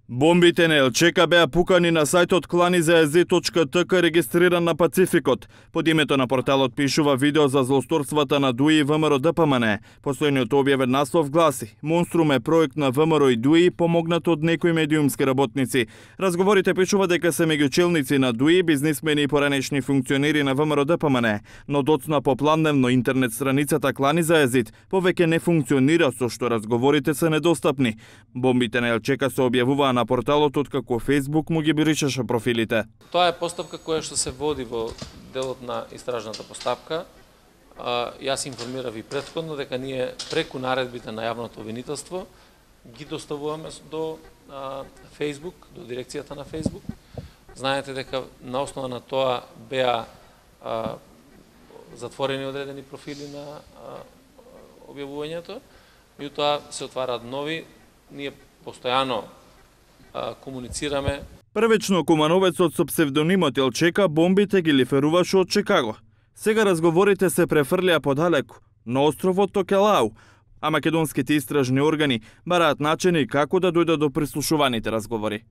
Бомбите на Елчека беа пукани на сајтот klanizaez.tk регистриран на Пацификот. Под името на порталот пишува видео за злосторствата на ДУИ и ВМРО ДПМН. Последниот објавен наслов гласи: Монструм е проект на ВМРО и ДУИ помогнат од некои медиумски работници. Разговорите пишува дека се меѓу челници на ДУИ, бизнисмени и поранешни функционери на ВМРО ДПМН, но доцна попланевно интернет страницата Klanizaez повеќе не функционира, со што разговорите се недостапни. Бомбите на Елчека се објавуваа на порталот откако Facebook му ги бришеше профилите. Тоа е постапка која што се води во делот на истражната постапка. Јас информирав и претходно дека ние преку наредбите на јавното обвинителство ги доставуваме до Facebook, до дирекцијата на Facebook. Знаете дека на основа на тоа беа затворени одредени профили на објавувањето, меѓутоа се отвараат нови. Ние постојано комуницираме. Првично кумановецот со псевдонимот Елчека бомбите ги лиферуваше од Чикаго. Сега разговорите се префрлија подалеку, на островот Токелау, а македонските истражни органи бараат начини како да дојдат до прислушуваните разговори.